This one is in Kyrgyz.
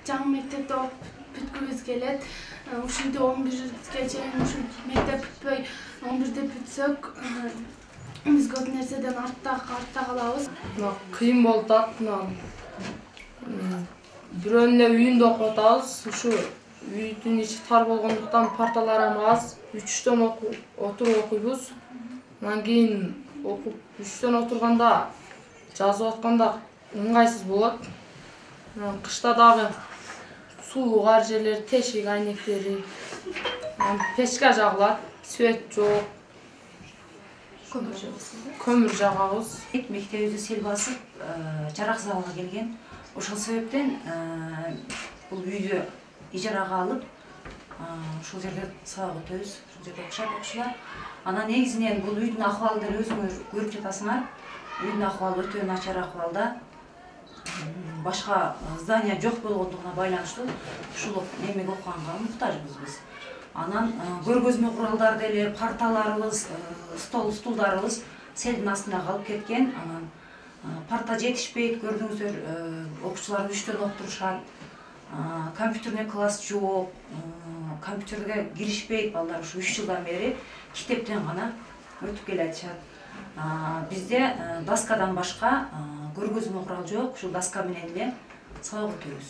жаңы мектепте окуп бүткүбүз келет. Ушинтип 11-ге чейин ушу мектеп бүтпөй 11-де бүтсөк, биз көп нерседен артта калабыз. Кыйын болуп атат. Бирөөнүн эле үйүндө окуп атабыз. Ушу үйдүн ичи тар болгондуктан парталар аз. 3-төн отуруп окуйбуз. Андан кийин окуп 3-төн отурганда жазып атканда ыңгайсыз болот. Кышта дагы сулуу кар жерлер, тешик айнектери, печка жагылат, свет жок. Көмүр жагабыз. Мектебибизди сел басып, жараксыз абалга келген. Ошол себептен бул үйдү ижарага алып, ушул жерде сабак өтөбүз, ушул жерде окушат окуучулар. Анан негизинен бул үйдүн акыбалын деле өзүңөр көрүп жатасыңар. Үйдүн акыбалы өтө начар акыбалда. Башка здания жок болгондугуна байланыштуу ушул немеге окуганга муктажбыз биз. Анан көргөзмө куралдары деле, парталарыбыз, стулдарыбыз селдин астында калып кеткен. Анан парта жетишпейт, көрдүңүздөр, окуучуларды 3-төн окутурушат. Компьютерный класс жок, компьютерге киришпейт балдар. Ушу 3 жылдан бери китептен гана өтүп келатышат. Бизде доскадан башка көргөзмө курал жок, ушул доска менен эле сабак өтөбүз.